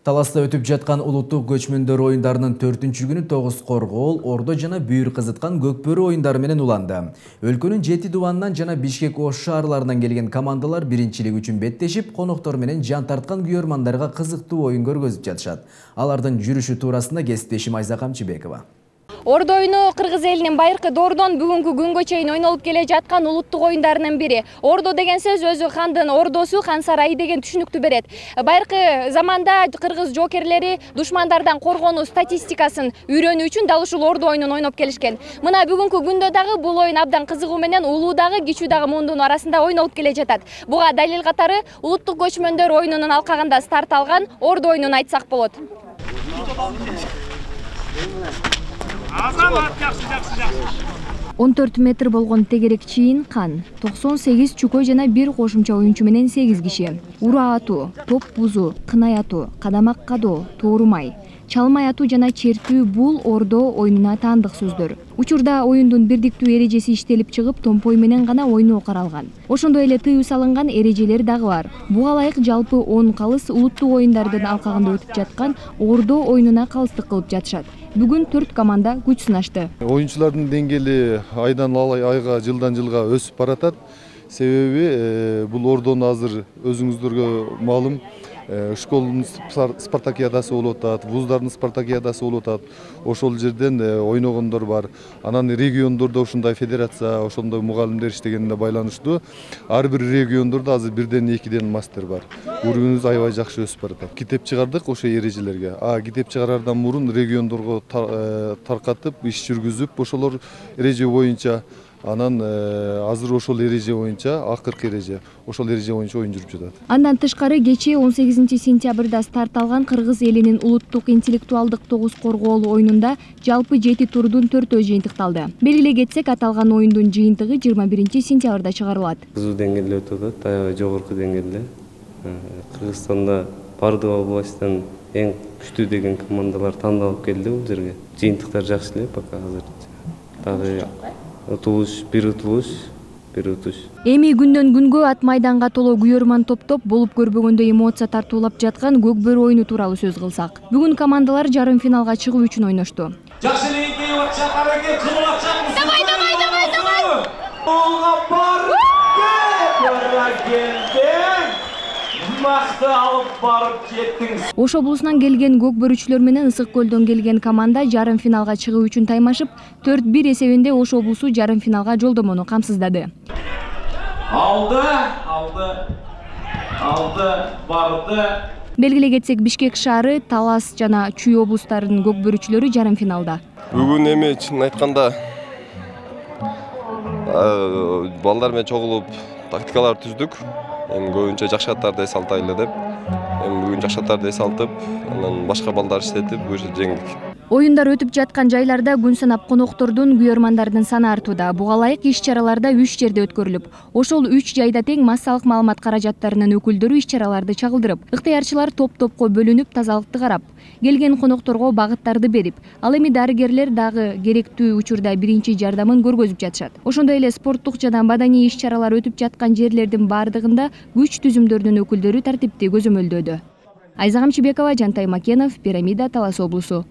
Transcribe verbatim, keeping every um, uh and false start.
Таласта өтүп жаткан улуттук көчмөндөр оюндарынын төртүнчү күнү тогуз коргоол, ордо жана бүйүр кызыткан көкбөрү оюндары менен уланды. Өлкөнүн жети дубанынан жана Бишкек Ош шаарларынан келген командалар биринчилик үчүн беттешип, коноктор менен жан тарткан күйөрмандарга кызыктуу оюн көргөзүп жатышат. Алардын жүрүшү туурасында кесиптешим Айза Камчыбекова. Ордо оюну кыргыз элинин байыркы доордон бүгүнкү күнгө чейин ойнолуп келе жаткан улуттук оюндарынын бири. Ордо деген сөз өзү хандын ордосу, хан сарайы деген түшүнүктү берет. Байыркы заманда кыргыз жоокерлери душмандардан коргонуу статистикасын үйрөнүү үчүн дал ушул ордо оюнун ойноп келишкен. Мына бүгүнкү күндө дагы бул оюн абдан кызыгуу менен улуу дагы кичүү дагы мундун арасында ойнолуп келе жатат. Буга далил катары улуттук көчмөндөр оюнунун алкагында старт алган ордо оюнун айтсак болот. он төрт метр болгон тегерек чийин кан, токсон сегиз чүкө жана бир кошумча оюнчу менен сегиз киши. Ура атуу, топ бузуу, кынай атуу, кадамак кадоо, тоорумай, чалмай атуу жана чертүү бул ордо оюнуна таандык сөздөр. Учурда оюндун бирдиктүү эрежеси иштелип чыгып, томпой менен гана ойноо каралган. Ошондой эле тыюу салынган эрежелер дагы бар. Буга ылайык жалпы он калыс улуттук оюндардын алкагында өтүп жаткан ордо оюнуна калыстык кылып жатышат. Бүгүн төрт команда күч сынашты. Оюнчулардын деңгээли айдан айга, жылдан жылга өсүп баратат. Себеби бул ордону азыр өзүңүздөргө маалым, школдун спартакиадасы болуп атат, вуздардын спартакиадасы болуп атат. Ошол жерден ойногондор бар. Анан региондордо ушундай федерация, ошондой мугалимдер иштегенине байланыштуу. Ар бир региондордо азыр бирден экиден мастер бар. Уровенибиз аябай жакшы өсүп баратат. Китеп чыгардык ошо эрежелерге. А китеп чыгарардан мурун региондорго таркатып, иш жүргүзүп, ошолор эреже боюнча анан азыр ошол эреже боюнча, акыркы эреже, ошол эреже боюнча оюн жүрүп жатат. Андан тышкары кечээ он сегизинчи сентябрда старт алган кыргыз элинин улуттук интеллектуалдык тогуз коргоол оюнунда жалпы жети турдун төртөө жыйынтыкталды. Белгилей кетсек, аталган оюндун жыйынтыгы жыйырма биринчи сентябрда чыгарылат. Кызуу деңгээлде өтүп атат, аябай жогорку деңгээлде. Кыргызстанда бардык областтан эң күчтүү деген командалар тандалып келди бул жерге. Жыйынтыктар жакшы эле пока азыр. Дагы утулуш, бир утулуш, бир утуш. Эми күндөн күнгө ат майданга толо күйөрман топтоп болуп көрбөгөндөй эмоция тартуулап жаткан көкбөрү оюну тууралуу сөз кылсак. Бүгүн командалар жарым финалга чыгуу үчүн ойношту. Жакшы эле кийип атышат, аракет кылып атышат. Давай, давай, давай, давай. Голга бар. Макты алып барып жеттиңиз. Ош облусунан келген көкбөрүчүлөр менен Ысык көлдөн келген команда жарым финалга чыгуу үчүн таймашып, төрт бир эсебинде Ош облусу жарым финалга жолдомону камсыздады. Алды, алды, алды, барды. Белгилей кетсек, Бишкек шаары, Талас жана Чүй облустарынын көкбөрүчүлөрү жарым финалда. Бүгүн эми чын айтканда балдар менен чогулуп тактикалар түздүк. Эми көбүнчө жакшаттарды эс алтайлы деп. Эми бүгүн жакшаттарды эс алтып, анан башка балдар иштетип, уже жеңдик. Оюндар өтүп жаткан жайларда күн санап коноктордун, күйөрмандардын саны артууда. Буга ылайык иш-чараларда үч жерде өткөрүлүп, ошол үч жайда тең массалык маалымат каражаттарынын өкүлдөрү иш-чараларды чагылдырып, ыктыярчылар топ-топко бөлүнүп тазалыкты карап, келген конокторго багыттарды берип, ал эми дарыгерлер дагы керектүү учурда биринчи жардамын көргөзүп жатышат. Ошондой эле спорттук жана маданий иш-чаралар өтүп жаткан жерлердин бардыгында күч түзүмдөрүнүн өкүлдөрү тартипти көзөмөлдөөдө. Айза Камчыбекова, Жантай Макенов, Пирамида, Талас облусу.